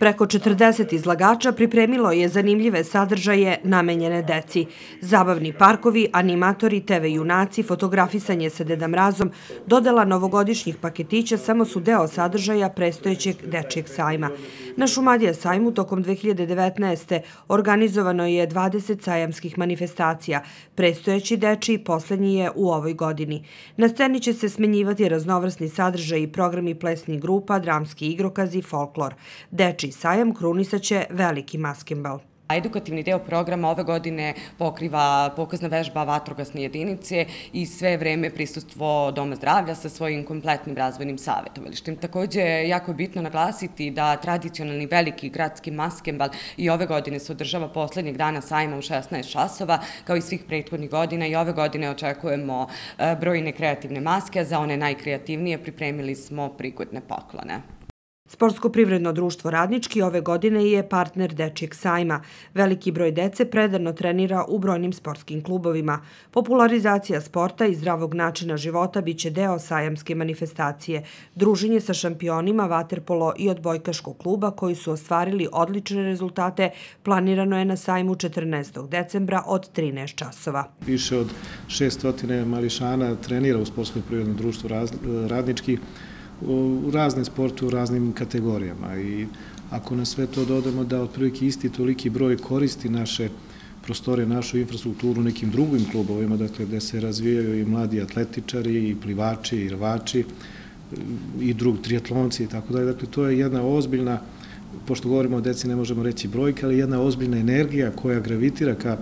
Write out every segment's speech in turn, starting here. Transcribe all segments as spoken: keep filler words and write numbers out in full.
Preko četrdeset izlagača pripremilo je zanimljive sadržaje namenjene deci. Zabavni parkovi, animatori, te ve junaci, fotografisanje sa Deda Mrazom, dodela novogodišnjih paketića samo su deo sadržaja prestojećeg dečijeg sajma. Na Šumadija sajmu tokom dve hiljade devetnaeste. organizovano je dvadeset sajamskih manifestacija. Prestojeći dečiji poslednji je u ovoj godini. Na sceni će se smenjivati raznovrsni sadržaji, programi plesnih grupa, dramski igrokazi, folklor. Dečiji sajam krunisaće veliki maskembal. Edukativni deo programa ove godine pokriva pokazna vežba vatrogasne jedinice i sve vreme prisustvo Doma zdravlja sa svojim kompletnim razvojnim savjetovalištem. Također je jako bitno naglasiti da tradicionalni veliki gradski maskembal i ove godine se održava poslednjeg dana sajma u šesnaest časova, kao i svih prethodnih godina, i ove godine očekujemo brojne kreativne maske, a za one najkreativnije pripremili smo prigodne poklone. Sportsko-privredno društvo Radnički ove godine je partner dečijeg sajma. Veliki broj dece predano trenira u brojnim sportskim klubovima. Popularizacija sporta i zdravog načina života biće deo sajamske manifestacije. Druženje sa šampionima vaterpolo i odbojkaškog kluba koji su ostvarili odlične rezultate planirano je na sajmu četrnaestog decembra od trinaest časova. Više od šesto mališana trenira u Sportsko-privrednom društvu Radnički u raznim sportu, u raznim kategorijama, i ako na sve to dodamo da otprilike isti toliki broj koristi naše prostore, našu infrastrukturu nekim drugim klubovima, dakle gde se razvijaju i mladi atletičari, i plivači, i rvači, i drug triatlonci i tako dalje. Dakle, to je jedna ozbiljna, pošto govorimo o deci ne možemo reći brojke, ali jedna ozbiljna energija koja gravitira ka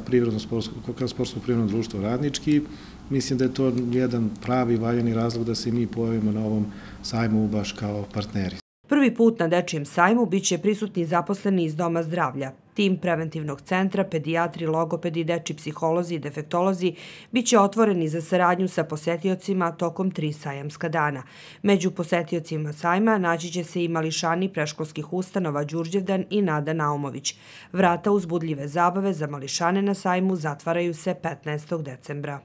Sportsko-privrednom društvu Radnički. Mislim da je to jedan pravi valjani razlog da se mi pojavimo na ovom sajmu baš kao partneri. Prvi put na dečijem sajmu biće prisutni zaposleni iz Doma zdravlja. Tim preventivnog centra, pedijatri, logopedi, dečji psiholozi i defektolozi biće otvoreni za saradnju sa posetiocima tokom tri sajamska dana. Među posetiocima sajma naći će se i mališani preškolskih ustanova Đurđevdan i Nada Naumović. Vrata uzbudljive zabave za mališane na sajmu zatvaraju se petnaestog decembra.